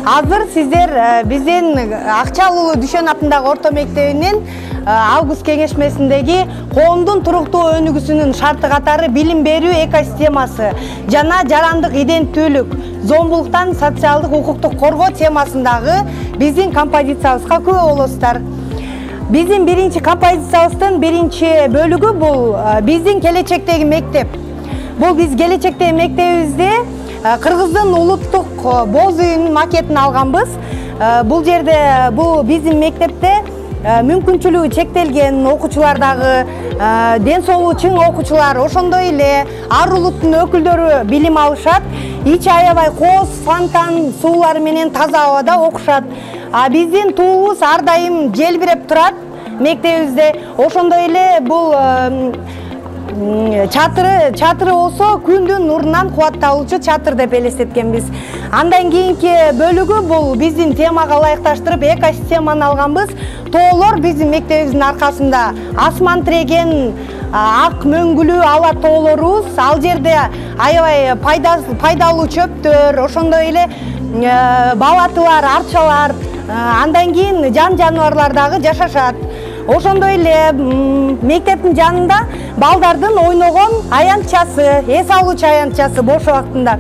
Азыр сиздер биздин Акчалуу Дүшөн атындагы орто мектебинин август кеңешмесиндеги коомдун туруктуу өнүгүүсүнүн шарты катары билим берүү экосистемасы жана жарандык иденттүүлүк, зомбулуктан социалдык укуктук коргоо темасындагы биздин композициябызга күбө болосуздар. Биздин биринчи композициябыздын биринчи бөлүгү бул биздин келечектеги мектеп. Бул биз келечектеги мектебибизде Кыргыздын улуттук боз үйүнүн макетин алганбыз. Бул жерде бул биздин мектепте мүмкүнчүлүгү чектелген окуучулардагы ден соолугу чың окуучулар, ошондой эле ар улуттун өкүлдөрү билим алышат. Ич аябай кооз, фонтан суулары менен таза абада окушат. Биздин туубуз ар дайым желбиреп турат мектебибизде. Ошондой эле бул чатыры болсо күндүн нурунан кубатталуучу чатыр деп элестеткенбиз. Андан кийинки бөлүгү бул биздин темага ылайыкташтырып экосистеманы алганбыз. Тоолор биздин мектебибиздин аркасында асман тиреген ак мөңгүлүү ала тоолорубуз. Ал жерде аябай пайдалуу чөптөр, ошондой эле балатылар, арчалар, андан кийин жан жаныбарлар дагы жашашат. Ошондой эле мектептин жанында балдардын ойногон аянтчасы, эс алуучу аянтчасы бош убактында.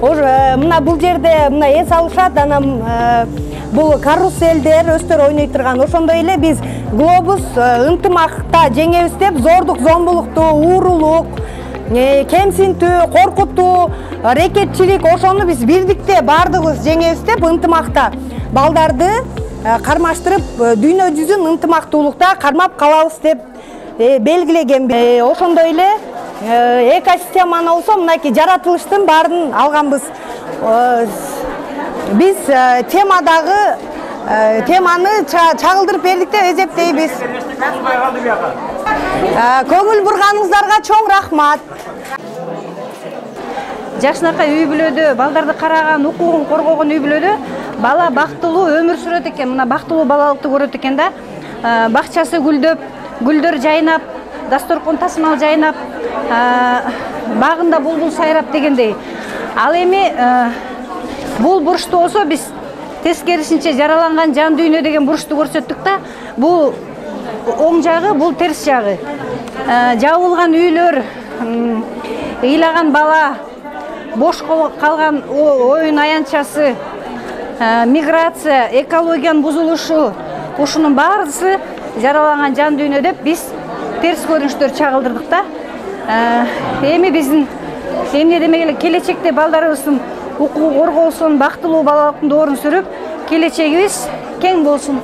Мына бул жерде мына эс алышат, анан бул каруселдер өстөр ойной турган. Ошондой эле биз глобус ынтымакта жеңебиз деп зордук, зомбулукту, уурулук, кемсинтүү, коркутуу, рекетчилик ошону биз бирдикте баардыгыбыз жеңебиз деп ынтымакта балдарды кармаштырып дүйнө жүзүн ынтымактуулукта кармап калабыз деп белгилеген. Ошондой эле экосистеманы болсо мынакей жаратылыштын баарын алганбыз. Биз теманы чагылдырып бердик деп эсептейбиз. Көңүл бурганыңыздарга чоң рахмат. Жакшынакай үй бүлөдө балдарды караган, укугун коргогон үй бүлөдө бала бактылуу өмүр сүрөт экен. Мына бактылуу балалыкты көрөт экен да. Бакчасы гүлдөп, гүлдөр жайнап, дасторкон тасмал жайнап, багында булбул сайрап дегендей. Ал эми бул бурчту болсо биз тескерисинче жараланган жан дүйнө деген бурчту көрсөттүк да. Бул оң жагы, бул терс жагы. Жабылган үйлөр, ыйлаган бала, бош калган оюн аянтчасы, миграция, экологиянын бузулушу, ушунун баарысы жараланган жан дүйнө деп биз терс көрүнүштөр чагылдырдык да. Эми биздин эмне демек эле келечекте балдарыбыздын укугу корголсун, бактылуу балалыктын доорун сүрүп, келечегибиз кең болсун.